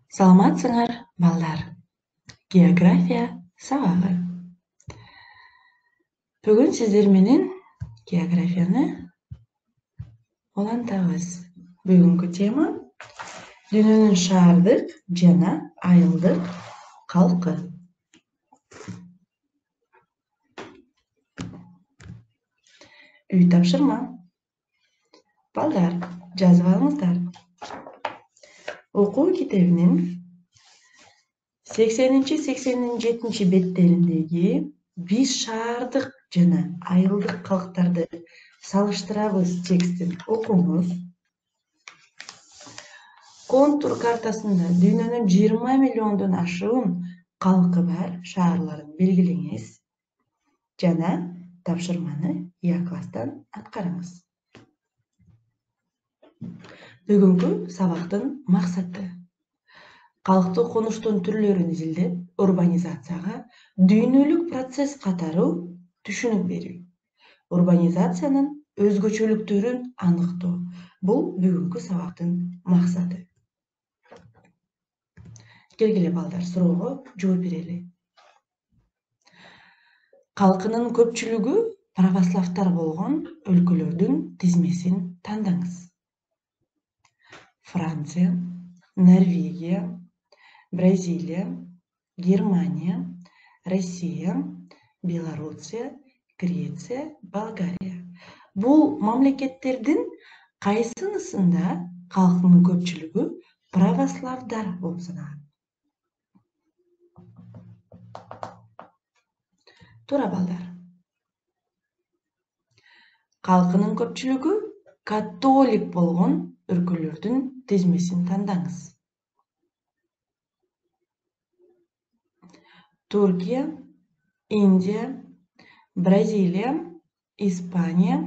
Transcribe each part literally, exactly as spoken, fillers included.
Саламатсыңар, балдар. География сабагы. Бүгүн сиздер менен географияны улантабыз. Бүгүнкү тема дүйнөнүн шаардык жана айылдык калкы. Үй тапшырма. Балдар, жазып алыңыздар. Окуу китебинин сексенинчи сексен жетинчи беттериндеги биз шаардык жана айылдык калктарды салыштырабыз текстин окуңуз. Контур картасында дүйнөнүн жыйырма миллиондон ашуун калкы бар шаарларын белгилеңиз жана тапшырманы А класстан аткарыңыз. Бүгүнкү сабактын максаты калктуу конуштун түрлөрүн изилдеп, урбанизацияга дүйнөлүк процесс катары түшүнүк берүү. Урбанизациянын өзгөчөлүктөрүн аныктоо. Бул бүгүнкү сабактын максаты. Келгиле балдар, суроого жооп берели. Калкынын көпчүлүгү православдар болгон өлкөлөрдүн тизмесин тандаңыз. Франция, Норвегия, Бразилия, Германия, Россия, Белоруссия, Греция, Болгария. Бул мамлекеттердин кайсынысында калкынын көпчүлүгү православдар болуп саналат? Туура балдар. Калкынын көпчүлүгү католик болгон өлкөлөрдүн тизмесин тандаңыз. Туркия, Индия, Бразилия, Испания,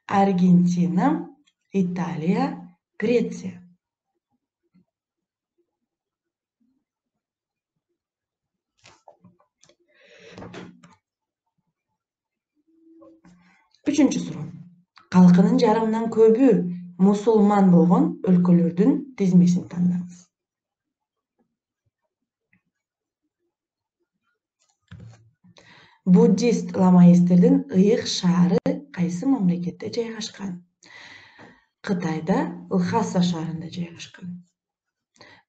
Аргентина, Италия, Греция. Үчүнчү суроо. Калкынын жарымынан көбү мусулман болгон өлкөлөрдүн тизмесин тандаңыз. Буддист ламаисттердин ыйык шаары кайсы мамлекетте жайгашкан? Кытайда Лхаса шаарында жайгашкан.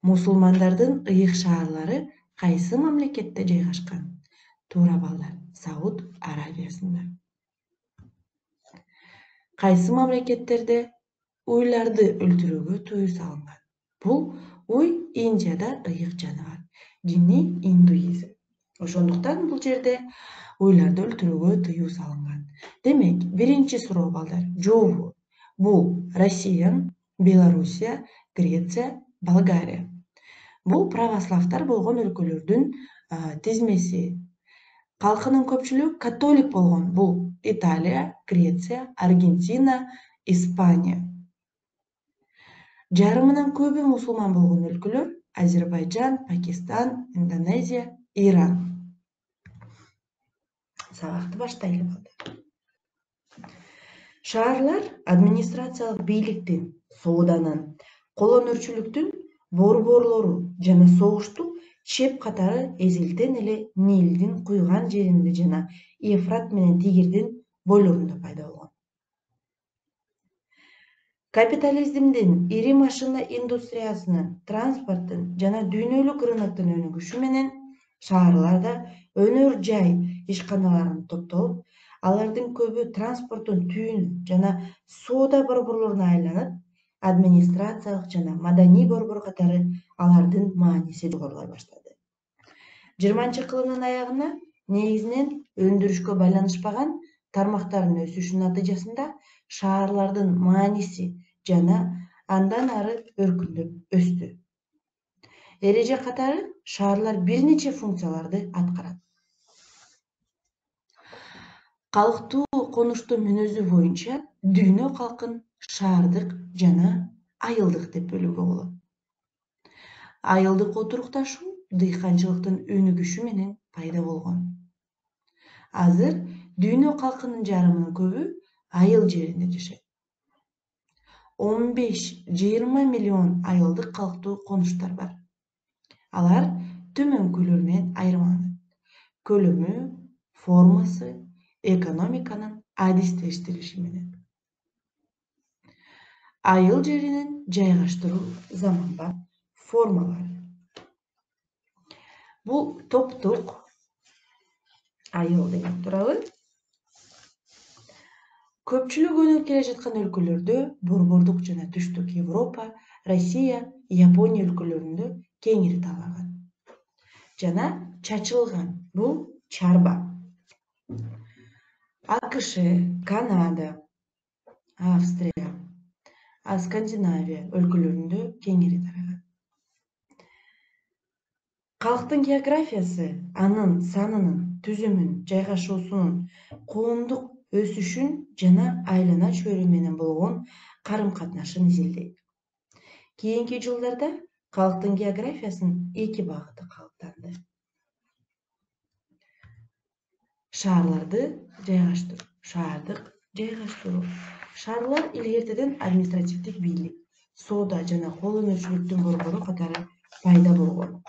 Мусулмандардын ыйык шаарлары кайсы мамлекетте жайгашкан? Туура балдар, Сауд Арабиясында. Кайсы мамлекеттерде уйларды өлтүрүүгө тыюу салынган? Бул уй Индияда ыйык жаныбар. Дини индуизм. Ошондуктан бул жерде уйларды өлтүрүүгө тыюу салынган. Демек, биринчи суроо балдар, жообу. Бул Россия, Белоруссия, Греция, Болгария. Бул православдар болгон өлкөлөрдүн тизмеси. Калкынын көпчүлүгү католик болгон. Бул Италия, Греция, Аргентина, Испания. Жарымынан көбү мусулман болгон өлкөлөр Азербайжан, Пакистан, Индонезия, Иран. Сабакты баштайлы балдар. Шаарлар администрациялык бийликтин, сооданын, колөнөрчүлүктүн борборлору жана согуштук чеп катары эзелтен эле Нилдин куйган жеринде жана Ефрат менен Тигирдин бойлорунда пайда болгон. Капитализмдин, ири машина индустриясынын, транспорттун жана дүйнөлүк рыноктун өнүгүшү менен шаарларда өнөр жай ишканаларын топтолуп, алардын көбү транспорттун түйүнү жана соода борборлоруна айланып, администрациялык жана маданий борбор катары алардын мааниси жогорулай баштады. жыйырманчы кылымдын аягына негизинен өндүрүшкө байланышпаган тармактардын өсүшүнүн натыйжасында шаарлардын мааниси жана андан ары өркүндөп өстү. Эреже катары шаарлар бир нече функцияларды аткарат. Калктуу конуштун мүнөзү боюнча дүйнө калкын шаардык жана айылдык деп бөлүүгө болот. Айылдык отурукташуу дыйканчылыктын өнүгүшү менен пайда болгон. Азыр дүйнө калкынын жарымынан көбү айыл жеринде жашайт. он беш жыйырма миллион айылдык калктуу конуштар бар. Алар төмөнкүлөр менен айырмаланат: көлөмү, формасы, экономиканын адистештириши менен. Айыл жеринин жайгаштыруу заманбап формалары. Бул топтук айыл деп турабы. Көпчүлүк өнүгүп келе жаткан өлкөлөрдө, борбордук жана түштүк Европа, Россия, Япония өлкөлөрүндө кеңири таралган жана чачылган. Бул чарба. АКШ, Канада, Австрия, Скандинавия өлкөлөрүндө кеңири тараган. Калктын географиясы анын санынын, түзүмүн, жайгашуусунун, коомдук өсүшүн жана айлана чөйрө менен болгон карым-катнашын изилдейт. Кийинки жылдарда калктын географиясынын эки багыты калыптанды: шаарларды жайгаштыруу, шаардык жайгаштыруу. Шаарлар илгертеден административдик бийлик, соода жана кол өнөрчүлүктүн борбору катары пайда болгон.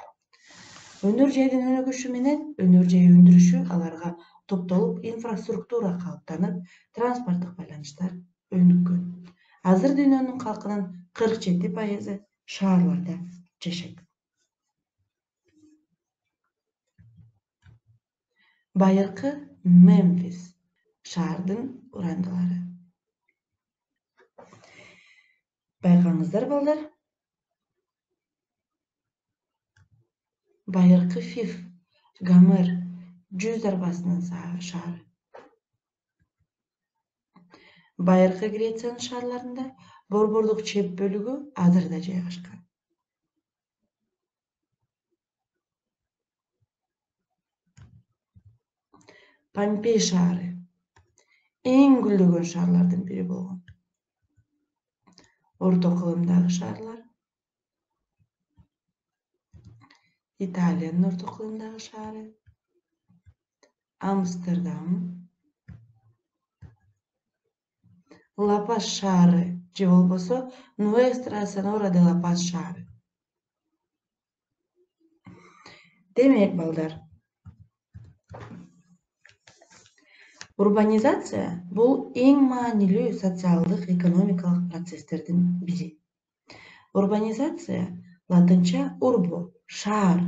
Өнөр жайдын өнүгүшү менен өнөр жай өндүрүшү аларга топтолуп инфраструктура калыптанып, транспорттук байланыштар өнүккөн. Азыр дүйнөнүн калкынын кырк жети пайызы шаарларда жашайт. Байыркы Мемфис шаардын урандылары. Байкаңыздар балдар. Байыркы Фиф, Гомер жүз арбасынын шаары. Байыркы Грециянын шаарларында борбордук чеп бөлүгү Адрда жайгашкан. Помпей шаары эң гүлдөгөн шаарлардын бири болгон. Орто кылымдагы шаарлар. Италиянын орто кылымдагы шаары. Амстердам. Ла-Пас шаары же болбосо Нуэстра Сенора де Ла-Пас шаары. Демек балдар, урбанизация бул эң маанилүү социалдык экономикалык процесстердин бири. Урбанизация латынча урбо, шаар,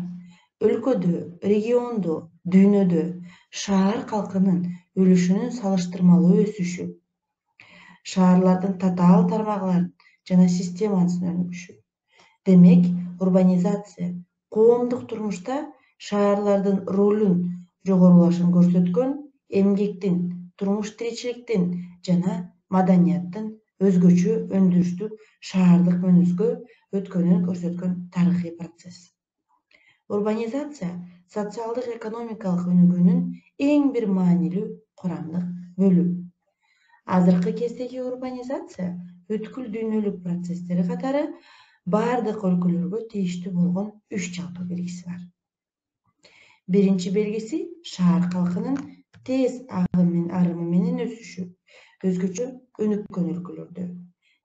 өлкөдө, региондо, дүйнөдө шаар калкынын үлүшүнүн салыштырмалуу өсүшү, шаарлардын татаал тармагыларын жана системасын өнүгүшү. Демек, урбанизация коомдук турмушта шаарлардын ролун жогорулашын көрсөткөн, эмгектин, турмуш тиричиликтин жана маданияттын өзгөчө өндүрүштүк шаардык мөөнөзгө өткөнүн көрсөткөн тарыхый процесс. Урбанизация социалдык экономикалык өнүгүүнүн эң бир маанилүү курамдык бөлүгү. Азыркы кездеги урбанизация бүткүл дүйнөлүк процесстери катары бардык өлкөлөргө тийиштүү болгон үч жалпы белгиси бар. Биринчи белгиси шаар калкынын тез арымы менен өсүшү, өзгөчө өнүккөн өлкөлөрдө.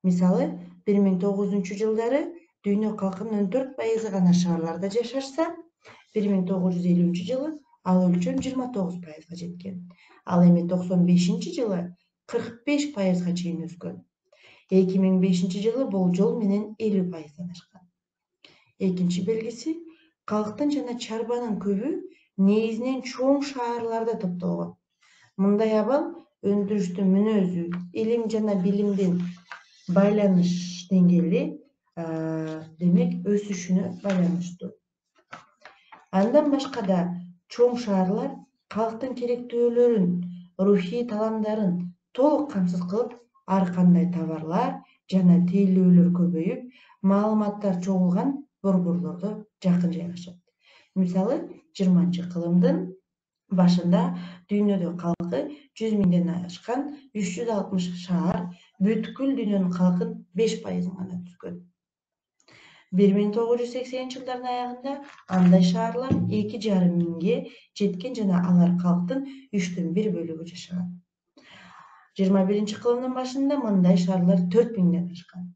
Мисалы, бир миң тогузунчу жылдары дүйнө калкынын он төрт пайызы гана шаарларда жашашса, бир миң тогуз жүз элүүнчү жылы ал өлчөм жыйырма тогуз пайызга жеткен. Ал эми токсон бешинчи жылы кырк беш пайызга чейин өскөн. эки миң бешинчи жылы болжол менен элүү пайыздан ашкан. Экинчи белгиси калктын жана чарбанын көбү негизинен чоң шаарларда топтолгон. Мындай абал өндүрүштүн мүнөзү, илим жана билимдин байланыш деңгээли демек өсүшүнө байланыштуу. Андан башка да чоң шаарлар калктын керектөөлөрүн, рухий таламдарын толук камсыз кылып, ар кандай товарлар жана тейлөөлөр көбөйүп, маалыматтар чогулган борборлордо жакын жайгашат. Мисалы, жыйырманчы кылымдын башында дүйнөдө калкы жүз миңден ашкан үч жүз алтымыш шаар бүткүл дүйнөнүн калкынын беш пайызын гана түзгөн. бир миң тогуз жүз сексенинчи жылдардын аягында андай шаарлар эки жарым миңге жеткен жана алар калктын үчтөн бир бөлүгү жашаган. жыйырма биринчи кылымдын башында мындай шаарлар төрт миңден ашкан.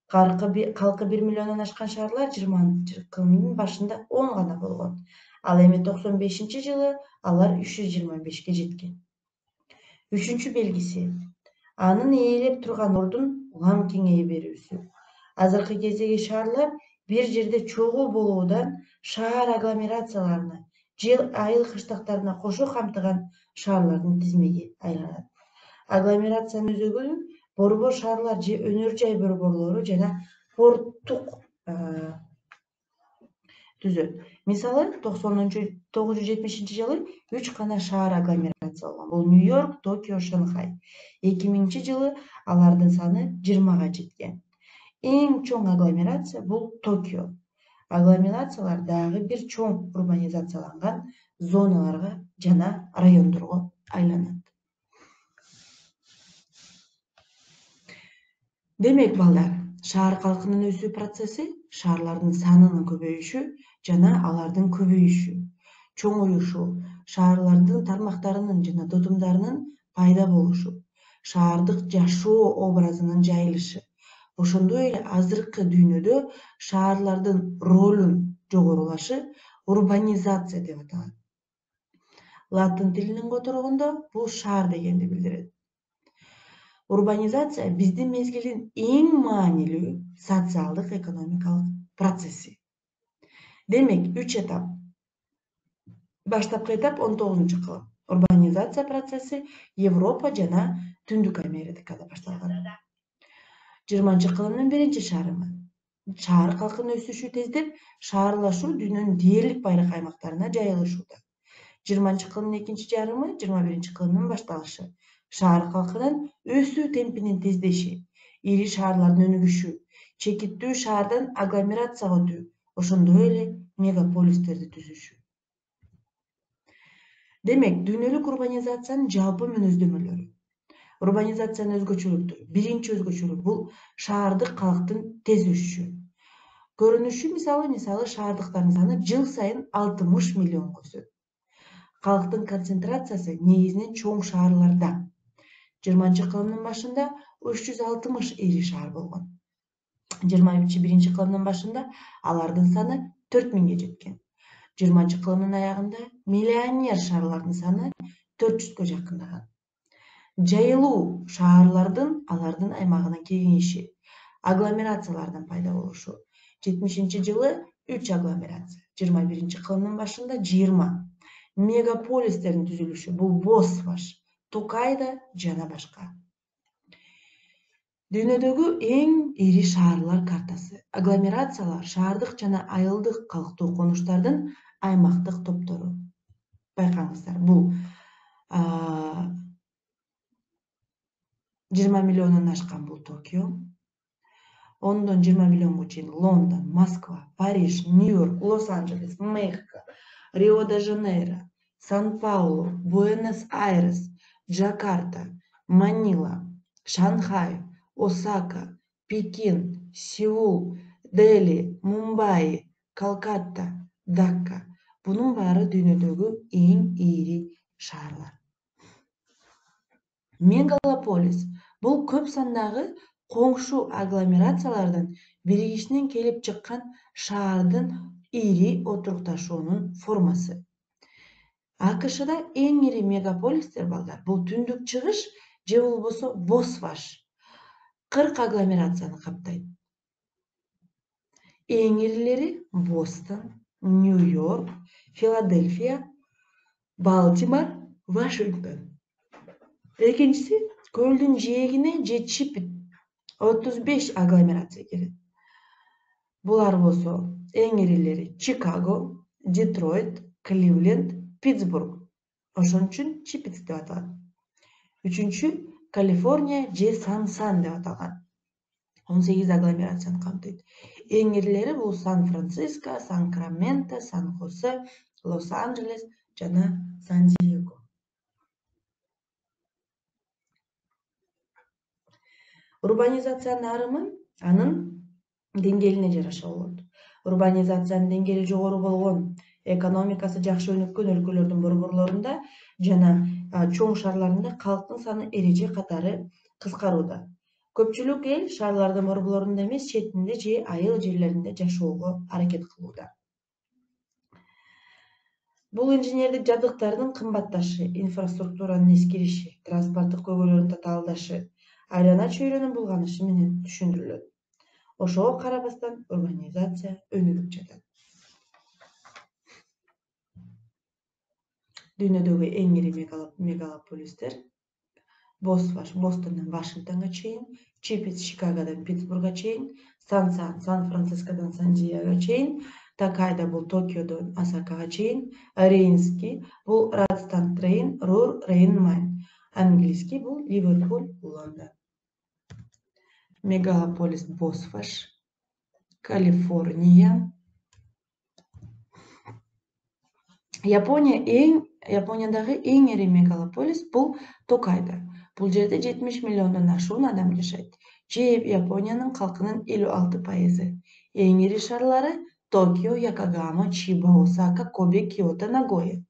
Калкы бир миллиондон ашкан шаарлар жыйырманчы кылымдын башында он гана болгон. Ал эми токсон бешинчи жылы алар үч жүз жыйырма бешке жеткен. Үчүнчү белгиси — анын ээлеп турган ордун улам кеңейе берүүсү. Азыркы кездеги шаарлар бир жерде чогуу болуудан шаар агломерацияларына же айыл кыштактарына кошо камтыган шаарлардын тизмеги айланат. Агломерациянын өзөгү борбор шаарлар же өнөр жай борборлору жана порттук түзөт. Мисалы, тогуз жүз жетимишинчи жылы үч гана шаар агломерацияланган. Бул Нью-Йорк, Токио, Шанхай. эки миңинчи жылы алардын саны жыйырмага жеткен. Эң чоң агломерация бул Токио. Агломерациялар дагы бир чоң урбанизацияланган зоналарга жана райондорго айланат. Демек, балдар, шаар калкынын өсүү процесси шаарлардын санынын көбөйүшү жана алардын көбөйүшү, чоңоюшу, шаарлардын тармактарынын жана тутумдарынын пайда болушу, шаардык жашоо образынын жайылышы, ошондой эле азыркы дүйнөдө шаарлардын ролунун жогорулашы урбанизация деп аталат. Латын тилинен которгондо бул шаар дегенди билдирет. Урбанизация биздин мезгилдин эң маанилүү социалдык экономикалык процесси. Демек, үч этап. Баштапкы этап он тогузунчу кылым. Урбанизация процесси Европа жана Түндүк Америкада башталган. жыйырманчы кылымдын биринчи шарымы. Шаар калкынын өсүшү тездеп, шаарлашуу дүйнөнүн дээрлик байыркы аймактарына жайылышууда. жыйырманчы кылымдын экинчи жарымы жыйырма биринчи кылымдын башталышы. Шаар калкынын өсүү темпинин тездеши, ири шаарлардын өнүгүшү, чекиттүү шаардан агломерацияга өтүү, ошондой эле мегаполистерди түзүшү. Демек, дүйнөлүк урбанизациянын жалпы мүнөздөмөлөрү. Урбанизациянын өзгөчөлүктөрү. Биринчи өзгөчөлүк бул шаардык калктын тез өсүшү. Көрүнүшү мисалы, мисалы шаардыктардын саны жыл сайын алтымыш миллионго өсөт. Калктын концентрациясы негизинен чоң шаарларда. жыйырманчы кылымдын башында үч жүз алтымыш ири шаар болгон. жыйырма биринчи кылымдын башында алардын саны төрт миңге жеткен. жыйырманчы кылымдын аягында миллионер шаарлардын саны төрт жүзгө жакындаган. Жайылуу шаарлардын алардын аймагына кеңейиши, агломерациялардын пайда болушу. жетимишинчи жылы үч агломерация, жыйырма биринчи кылымдын башында жыйырма. Мегаполистердин түзүлүшү, бул Босфаш, Токайда жана башка. Дүйнөдөгү эң ири шаарлар картасы. Агломерациялар шаардык жана айылдык калктуу конуштардын аймактык топтору. Байкаңыздар, бул жыйырма миллиондон ашкан бул Токио, ондон жыйырма миллионго чейин Лондон, Москва, Париж, Нью-Йорк, Лос-Анджелес, Мехико, Рио-де-Жанейро, Сан-Паулу, Буэнос-Айрес, Джакарта, Манила, Шанхай, Осака, Пекин, Сеул, Дели, Мумбаи, Калкатта, Дакка. Бунун баары дүйнөдөгү эң ири шаарлар. Мегалополис бул көп сандагы коңшу агломерациялардын биригишинен келип чыккан шаардын ири отурукташуунун формасы. АКШда эң ири мегаполистер, балдар, бул Түндүк Чыгыш же болбосо Босфаш кырк агломерацияны каптайт. Эң ирилери Бостон, Нью-Йорк, Филадельфия, Балтимор, Вашингтон. Экинчиси көлдүн жээгине же Чипит отуз беш агломерация келет. Булар болсо эң ирилери Чикаго, Детройт, Кливленд, Питтсбург. Ошон үчүн Чипит деп аталат. Үчүнчү Калифорния же Сан-Сан деп аталган. он сегиз агломерацияны камтыйт. Эң ирилери бул Сан-Франциско, Сан-Краменто, Сан-Хосе, Лос-Анджелес жана Сан-Диего. Урбанизациянын арымы анын деңгээлине жараша болот. Урбанизациянын деңгээли жогору болгон, экономикасы жакшы өнүккөн өлкөлөрдүн борборлорунда жана чоң шаарларында калктын саны эреже катары кыскарууда. Көпчүлүк эл шаарлардын борборлорунда эмес, четинде же айыл жерлеринде жашоого аракет кылууда. Бул инженердик жабдыктардын кымбатташы, инфраструктуранын эскириши, транспорттук көйгөйлөрдүн татаалдашы, айлана чөйрөнүн булганышы менен түшүндүрүлөт. Ошого карабастан урбанизация өнүгүп жатат. Дүйнөдөгү эң ири мегалополистер Босфаш Бостондон Вашингтонго чейин, Чипец Чикагодон Питтсбургго чейин, Сансан Сан-Францискодон Сан-Диегого чейин, Токайдо бул Токиодон Осакага чейин, Рейнский бул Радстад Рейн, Рур Рейн-Майн, английский бул Ливерпуль Лондон. Мегалополис Босфаш, Калифорния. Япония эң Япониядагы эң ири мегалополис бул Токайдо. Бул жерде жетимиш миллиондон ашуун адам жашайт. Же Япониянын калкынын элүү алты пайызы. Эң ири шаарлары Токио, Якогама, Чиба, Осака, Кобе, Киото, Нагоя.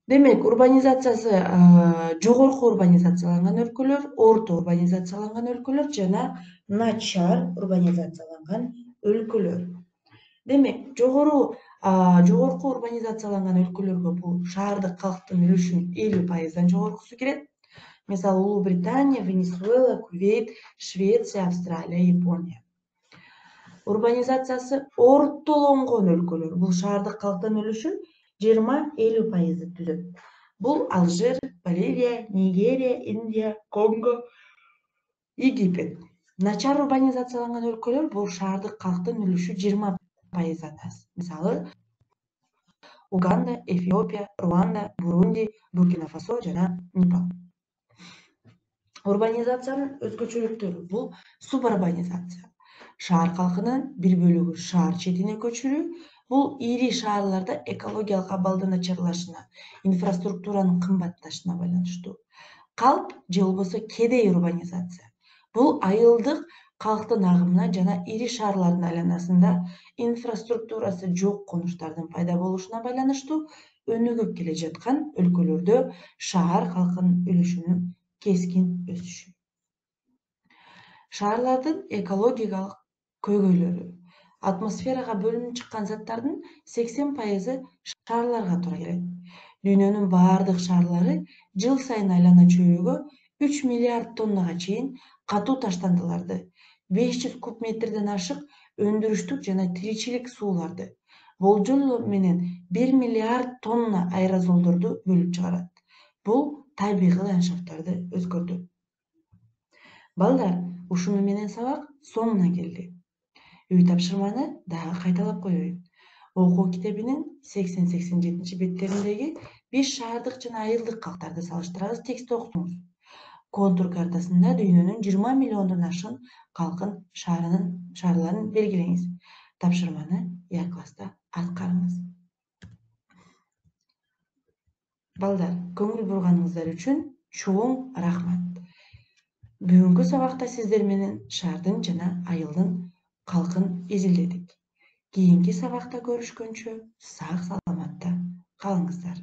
Демек, урбанизациясы жогорку урбанизацияланган өлкөлөр, орто урбанизацияланган өлкөлөр жана начар урбанизацияланган өлкөлөр. Демек, жогору жогорку урбанизацияланган өлкөлөргө бул шаардык калктын үлүшүнүн элүү пайыздан жогоркусу кирет. Мисалы, Улуу Британия, Венесуэла, Кувейт, Швеция, Австралия, Япония. Урбанизациясы ортолонгон өлкөлөр бул шаардык калктын үлүшүн жыйырма элүү пайызды түзөт. Бул Алжир, Боливия, Нигерия, Индия, Конго, Египет. Начар урбанизацияланган өлкөлөр бул шаардык калктын үлүшү жыйырма пайыздан аз. Мисалы, Уганда, Эфиопия, Руанда, Бурунди, Буркина-Фасо жана Непал. Урбанизациянын өзгөчөлүктөрү бул субурбанизация. Шаар калкынын бир бөлүгү шаар четине көчүрүү. Бул ири шаарларда экологиялык абалдын начарлашына, инфраструктуранын кымбатташына байланыштуу. Калп же болбосо кедей урбанизация. Бул айылдык калктын агымына жана ири шаарлардын айланасында инфраструктурасы жок конуштардын пайда болушуна байланыштуу өнүгүп келе жаткан өлкөлөрдө шаар калкынын үлүшүнүн кескин өсүшү. Шаарлардын экологиялык көйгөйлөрү. Атмосферага бөлүнүп чыккан заттардын сексен пайызы шаарларга туура келет. Дүйнөнүн баардык шаарлары жыл сайын айлана чөйрөгө үч миллиард тоннага чейин катуу таштандыларды, беш жүз куб метрден ашык өндүрүштүк жана тиричилик сууларды, болжол менен бир миллиард тонна аэрозолдорду бөлүп чыгарат. Бул табигый ландшафттарды өзгөртөт. Балдар, ушуну менен сабак соңуна келди. Үй тапшырманы дагы кайталап коеюн. Окуу китебинин сексен сексен жетинчи беттериндеги биз шаардык жана айылдык калктарды салыштырабыз текстти окуңуз. Контур картасында дүйнөнүн жыйырма миллиондон ашык калкын шаарларын белгилеңиз. Тапшырманы Я класста аткарыңыз. Балдар, көңүл бурганыңыздар үчүн чоң рахмат. Бүгүнкү сабакта сиздер менен шаардын жана айылдын калкын изилдедик. Кийинки сабакта көрүшкөнчө сак саламатта калыңыздар.